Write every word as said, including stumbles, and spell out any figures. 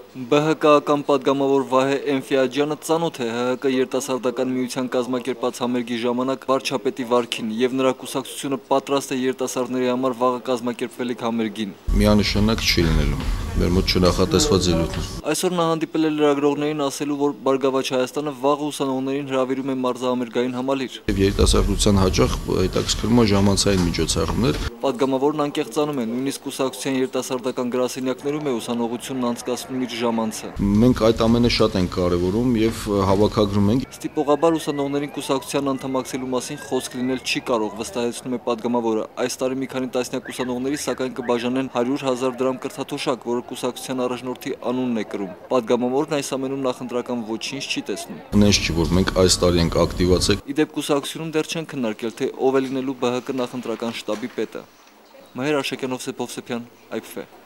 Բ Հ Կ-ական պատգամավոր Վահե Էնֆիաջյանը ծանոթ է Հ Հ Կ երիտասարդական միության կազմակերպած համերգի ժամանակ վարչապետի վարքին եւ նրա կուսակցությունը պատրաստ է երիտասարդների համար վաղը կազմակերպվելիք համերգին։ Միանշանակ չի լինելու, մեր մոտ չնախատեսված ելույթ է։ Այսօր նա հանդիպել է լրագրողներին ասելու, որ Բարգավաճ Հայաստանը վաղը ուսանողներին հրավիրում է մարզահամերգային համալիր։ Եվ երիտասարդության հաճախ հետաքրքրում է ժամանցային միջոցառումներ։ Պատգամավորն անկեղծանում է, նույնիսկ կուսակցության երիտասարդական գրասենյակներում է ուսանողությունն անցկացնում իր ժամանցը։ Մենք այդ ամենը շատ ենք կարևորում եւ հավաքագրում ենք։ Ստիպողաբար ուսանողներին կուսակցության անդամակցելու մասին խոսք լինել չի կարող, վստահեցնում է պատգամավորը։ Այս տարի մի քանի տասնյակ ուսանողների սակայն կբաժանեն հարյուր հազար դրամ կրթաթոշակ, որը կուսակցության առաջնորդի անունն է կրում։ Պատգամավորն այս ամենում նախընտրական ոչինչ չի տեսնում։ Հնես չի, որ մենք այս տարի ենք ակտիվացել։ Իդեպ կուսակցությունում դեռ չեն քննարկել, թե ով է լինելու Բ Հ Կ նախընտրական շտաբի պետը։ Մհեր Արշակյանով, Սեփով Սեփյան, Այ Փ Ֆ։